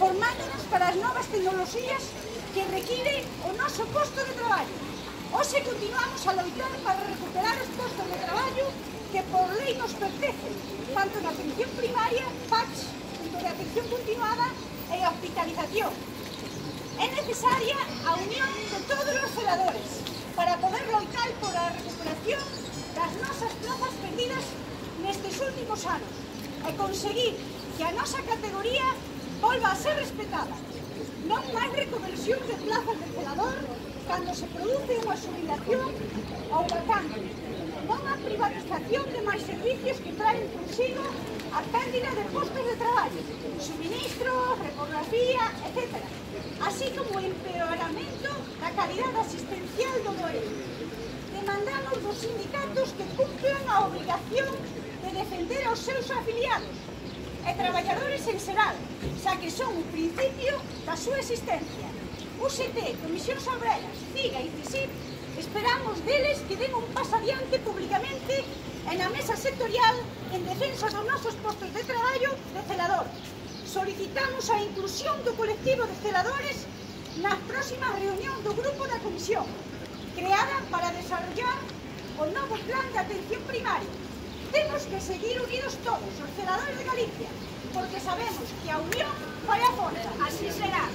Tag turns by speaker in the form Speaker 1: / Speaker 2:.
Speaker 1: formándonos para as novas tecnoloxías que require o noso posto de traballo. Hoxe continuamos a loitar para recuperar os postos de traballo que por lei nos pertencen, tanto na atención primaria, PACS, de atención continuada e hospitalización. É necesaria a unión de todos os celadores para poder loitar por a recuperación das nosas plazas perdidas nestes últimos anos e conseguir que a nosa categoría volva a ser respetada. Non máis reconversión de plazas de celador cando se produce unha xubilación ou vacante. Non a privatización de máis servicios que traen consigo a pérdida de postos de traballo, suministros, repografía, etc. Así como o empeoramento da calidade asistencial do doente. Demandamos dos sindicatos que cumplan a obrigación de defender aos seus afiliados e traballadores en xeral, xa que son o principio da súa existencia. UGT, Comisións Obreras, CIGA e CISIP, esperamos deles que den un paso adiante públicamente e na mesa sectorial en defensa dos nosos postos de traballo de celador. Solicitamos a inclusión do colectivo de celadores nas próximas reunións do grupo da Comisión, creada para desarrollar o novo plan de atención primaria. Temos que seguir unidos todos, os celadores de Galicia, porque sabemos que a unión fai a forza. Así será.